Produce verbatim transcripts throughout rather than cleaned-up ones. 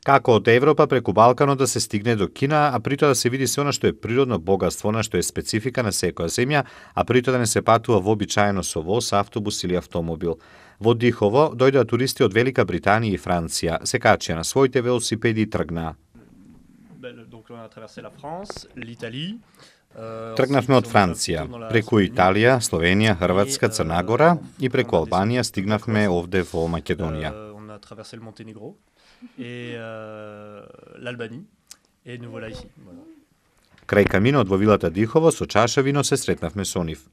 Како од Европа преку Балканот да се стигне до Кина, а при тоа да се види се она што е природно богатство, на што е специфика на секоја земја, а при тоа да не се патува вообичаено со воз, автобус или автомобил. Во Дихово дојдоа туристи од Велика Британија и Франција, се качија на своите велосипеди и тргнаа. Тргнавме од Франција, преку Италија, Словенија, Хрватска, Црна Гора и преку Албанија стигнавме овде во Македонија. Крај каминот во вилата Дихово со чаша вино се сретнавме со нив.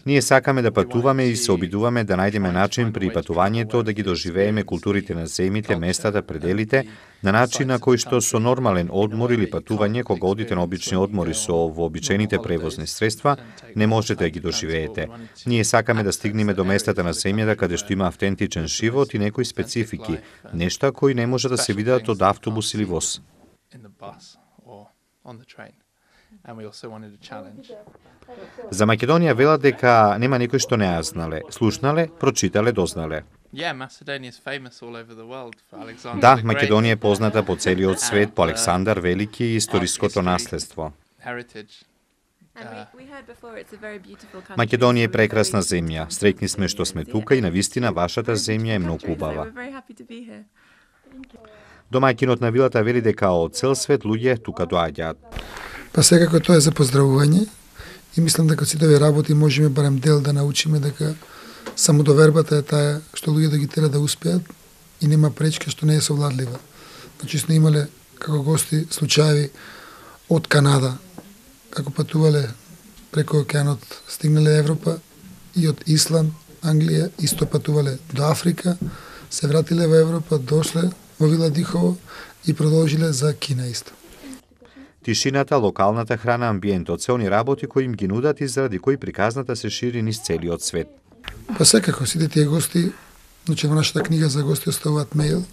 Ние сакаме да патуваме и се обидуваме да најдеме начин при патувањето да ги доживееме културите на земите, местата, пределите, на начин на кој што со нормален одмор или патување, кога одите на обични одмори со вообичаените превозни средства, не можете да ги доживеете. Ние сакаме да стигнеме до местата на земјата каде што има автентичен живот и некои специфики, нешта кои не може да се видат од автобус или воз. За Македонија велат дека нема некој што не ја знале, слушнале, прочитале, дознале. Да, Македонија е позната по целиот свет по Александар Велики и историското наследство. Македонија е прекрасна земја. Среќни сме што сме тука и навистина вашата земја е многу убава. Домаќинот на вилата вели дека од цел свет луѓе тука доаѓаат. Па секако тоа е за поздравување и мислам дека сите овие работи можеме барем дел да научиме дека самодовербата е таа што луѓето ги тера да успеат и нема пречка што не е совладлива. Значи сме имале како гости случаи од Канада, како патувале преку океанот, стигнале Европа, и од Исланд, Англија, исто патувале до Африка, се вратиле во Европа, дошле во вила Дихово и продолжиле за Кина исто. Тишината, локалната храна, амбиентот, се они работи кои им ги нудат и заради кои приказната се шири низ целиот свет. Па секако, сите тие гости, значи во нашата книга за гости оставуваат мејл,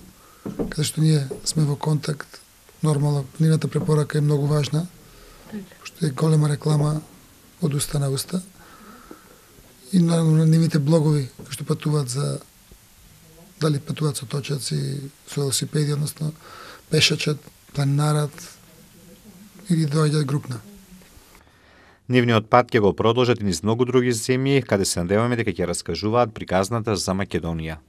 каде што ние сме во контакт. Нормално, нивната препорака е многу важна, што е голема реклама од уста на уста. И наравно нивните блогови, што патуваат за, дали патуваат со точаци, со велосипеди, односно пешачат, планинарат, или доаѓаат групна. Нивниот пат ќе го продолжат и низ многу други земји, каде се надеваме дека ќе раскажуваат приказната за Македонија.